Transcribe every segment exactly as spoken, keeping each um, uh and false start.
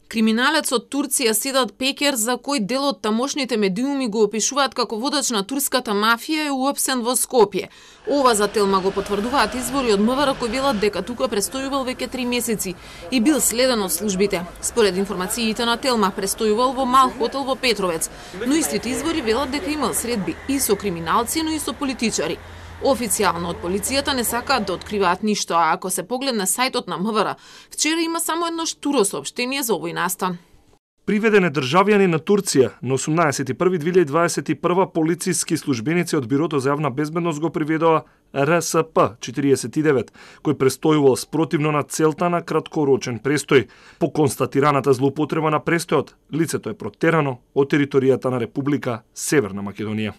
Криминалец од Турција Седат Пекер, за кој дел од тамошните медиуми го опишуваат како водач на турската мафија, е уапсен во Скопје. Ова за Телма го потврдуваат извори од МВР кои велат дека тука престојувал веќе три месеци и бил следен од службите. Според информациите на Телма, престојувал во мал хотел во Петровец, но истите извори велат дека имал средби и со криминалци, но и со политичари. Официјално од полицијата не сакаат да откриваат ништо, а ако се погледне сајтот на МВР, вчера има само едно штуро соопштение за овој настан. Приведен е државјанин на Турција. На осумнаесети први две илјади дваесет и прва полициски службеници од Бирото за јавна безбедност го приведоа Р С П четириесет и девет, кој престојувал спротивно на целта на краткорочен престој. По констатираната злоупотреба на престојот, лицето е протерано од територијата на Република Северна Македонија.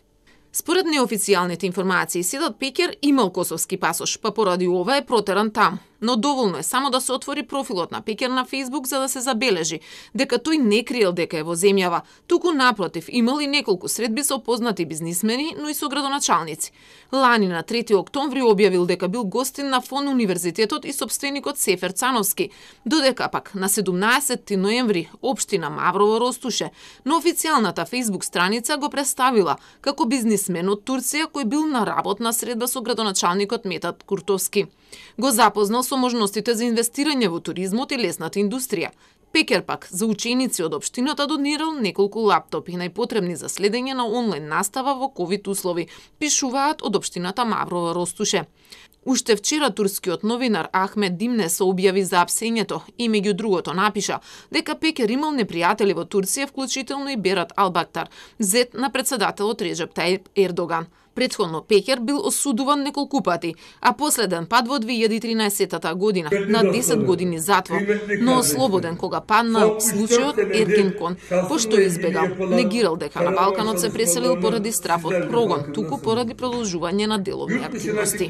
Според неофицијалните информации, Седат Пекер имал косовски пасош, па поради ова е протеран таму. Но доволно е само да се отвори профилот на Пекер на Фејсбук за да се забележи дека тој не криел дека е во земјава, туку напротив имал и неколку средби со познати бизнисмени, но и со градоначалници. Лани на трети октомври објавил дека бил гостин на Фон универзитетот и сопственикот Сефер Цановски, додека пак на седумнаесети ноември општина Маврово Ростуше на официјалната Фејсбук страница го представила како бизнисмен од Турција кој бил на работна средба со градоначалникот Метат Куртовски. Го запознал со можностите за инвестирање во туризмот и лесната индустрија. Пекер пак за ученици од општината донирал неколку лаптопи најпотребни за следење на онлайн настава во ковид услови, пишуваат од општината Маврово Ростуше. Уште вчера турскиот новинар Ахмед Димне се објави за апсењето и меѓу другото напиша дека Пекер имал непријатели во Турција, вклучително и Берат Албактар, зет на председателот Реджеп Тајип Ердоган. Претходно Пекер бил осудуван неколку пати, а последен пат во две илјади и тринаесета година на десет години затвор, но ослободен кога паднал случајот Ергенкон, пошто избегал, негирал дека на Балканот се преселил поради страф од прогон, туку поради продолжување на деловни активности.